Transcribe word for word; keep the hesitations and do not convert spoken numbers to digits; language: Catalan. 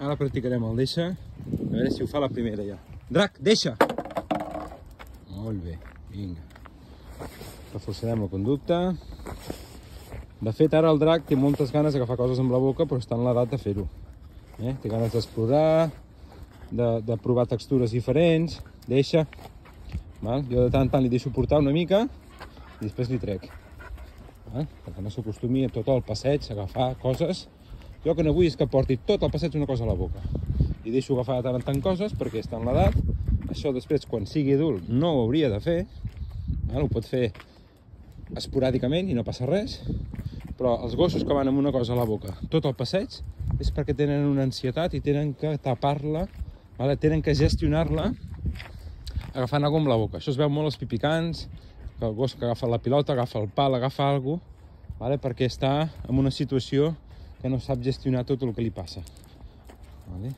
Ara practicarem el deixa. A veure si ho fa la primera ja. Drac, deixa! Molt bé, vinga. Reforçarem la conducta. De fet, ara el drac té moltes ganes d'agafar coses amb la boca, però està en l'edat de fer-ho. Eh? Té ganes d'explorar, de, de provar textures diferents. Deixa. Val? Jo de tant en tant li deixo portar una mica i després li trec. Val? Perquè no s'acostumi a tot el passeig a agafar coses. Jo que no vull és que porti tot el passeig una cosa a la boca. Li deixo agafar de tant en tant coses perquè està en l'edat. Això després, quan sigui adult, no ho hauria de fer. Val? Ho pot fer esporàdicament i no passa res. Però els gossos que van amb una cosa a la boca tot el passeig és perquè tenen una ansietat i tenen que tapar-la, vale? Tenen que gestionar-la agafant alguna cosa amb la boca. Això es veu molt als pipicans, que el gos que agafa la pilota, agafa el pal, agafa alguna cosa, vale? Perquè està en una situació que no sap gestionar tot el que li passa. Vale?